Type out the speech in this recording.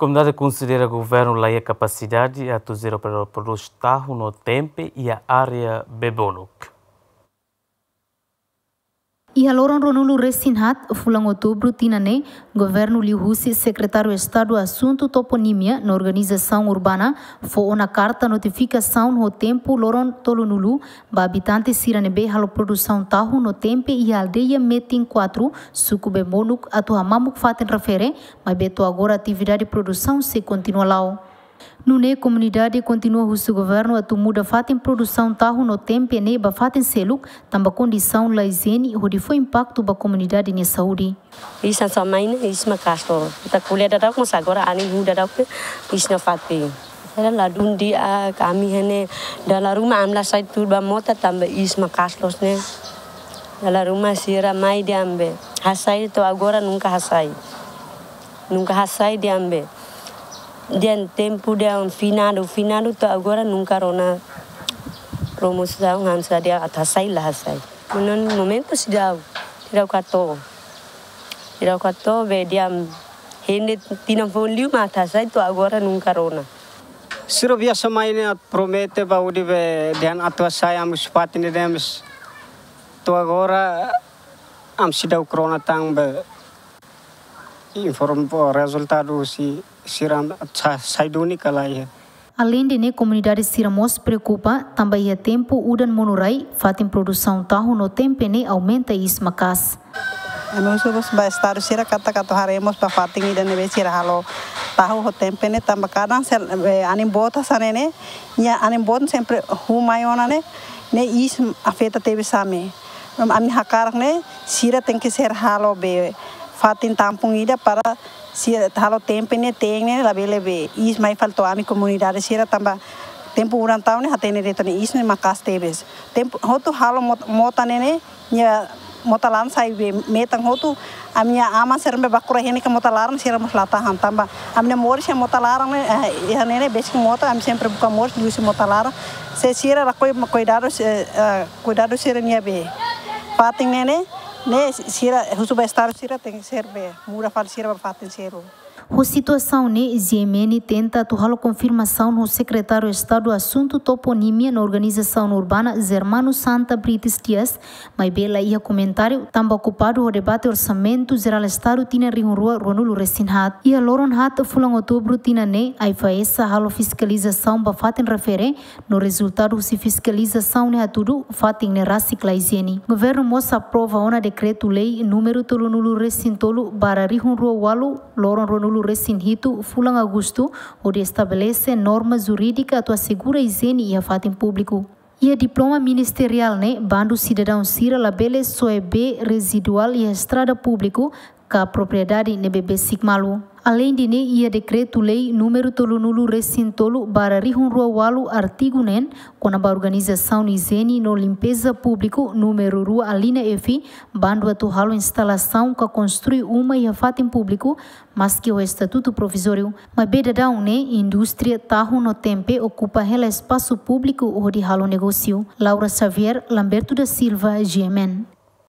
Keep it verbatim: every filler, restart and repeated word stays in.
Komunidade konsidera governu la iha kapasidade atu jere para produs tahu no tempe iha área Bebonuk. Iha loron ruanulu resin haat, fulan Outubru tinan ne'e, governu liuhusi Sekretáriu Estadu Asuntu Toponímia no Organizasaun Urbana fó ona karta notifikasaun ho tempu loron tolunulu ba abitante sira ne'ebé halo produsaun tahu no tempe iha aldeia Metin kuatru, suku Bebonuk, atu hamamuk fatin refere, maibé to'o agora atividade produsaun sei kontinua la'o. Nune'e komunidade kontinua husu governu atu muda fatin produsaun tahu no tempe ne'e ba fatin seluk, tanba kondisaun la ijiene hodi fó impaktu ba komunidade nia saúde. Iis hanesan mai ne'e, iis maka'as loos. Ita ko'alia dadauk, mas agora anin huu dadauk ne'e, iis nafatin. Ita ladún di'ak, ami iha ne'e dala ruma ami la sai tuur ba mota tanba iis maka'as loos ne'e. Dala ruma sira mai dehan be hasai, to'o agora nunka hasai. Nunka hasai dehan be. Dehan tempu dehan finadu, finadu to'o agora nunka rona promosaun hanesan dehan atu hasai la hasai. Maibé momentu seidauk, seidauk hato'o. Seidauk hato'o be dehan hende tinan foun liu mak atu hasai to'o agora nunka rona. Sira biasa mai ne'e atu promete ba hodi be dehan atu hasai ami husi fatin ne'e dehan, mas to'o agora ami seidauk rona tan be informe rezultadu husi sira sa-, sai duni ka lae. Aleinde ne'e, komunidade sira mós preokupa tanba iha tempu udan monu rai, fatin produsaun tahu no tempe ne'e aumenta iis maka'as. Ami husu mós ba estadu sira katak atu haree mós ba fatin ida ne'ebé sira halo tahu ho tempe ne'e tanba kadang sel-, eh, anin boot hanesan ne'e, nia anin boot sempre huu mai ona ne'e, ne'e iis afeta tebes ami. Ami hakarak ne'e, sira tenke ser halo be fatin tampung ida para sira halo tempe ne'e, teen ne'e labele be iis mai fali to'o ami komunidade sira tanba tempu udan tau ne'e hatene de'it ne'e iis ne'e maka'as tebes. Tempu hotu halo mot-, mota ne'e ne'e, nia mota laran sai be metan hotu, ami-nia aman sira be baku rai hene ka mota laran sira mós la tahan tanba ami-nia moris iha mota laran ne'e, eh, iha ne'e ne'e besik mota, ami sempre buka moris liuhusi mota laran. Se sira lakohi kuidadu, eh, eh, kuidadu sira-nia be fatin ne'e ne'e, ne'e sira husu ba estadu sira tenke ser be muda fali sira ba fatin seluk. Ho situasaun ne'e, G M N tenta atu halo konfirmasaun ho Sekretáriu Estadu Asuntu Toponímia no Organizasaun Urbana, Germano Santa Brites Dias, maibé la iha komentáriu tanba okupadu ho debate Orsamentu Jerál Estadu tinan rihun rua ruanulu resin haat. Iha loron haat fulan Outubru tinan ne'e, AIFAESA halo fiskalizasaun ba fatin refere, no rezultadu husi fiskalizasaun ne'e hatudu fatin ne'e rasik la ijiene. Governu mós aprova ona dekretu-lei númeru tolunulu resin tolu barra rihun rua ualu, loron ruanulu resin hitu, fulan Agostu, hodi estabelese norma jurídika atu asegura ijiene iha fatin públiku. Iha diploma ministeriál ne'e, bandu sidadaun sira labele soe bee reziduál iha estrada públiku ka propriedade ne'ebé besik malu. Aleinde ne'e, iha dekretu-lei númeru tolunulu resin tolu barra rihun rua ualu, artigu neen, kona-ba organizasaun ijiene no limpeza públiku, númeru rua, alínea F, bandu atu halo instalasaun ka konstrui uma iha fatin públiku, maski ho estatutu provizóriu. Maibé daudaun ne'e, indústria tahu no tempe okupa hela espasu públiku hodi halo negósiu. Laura Xavier, Lamberto da Silva, G M N.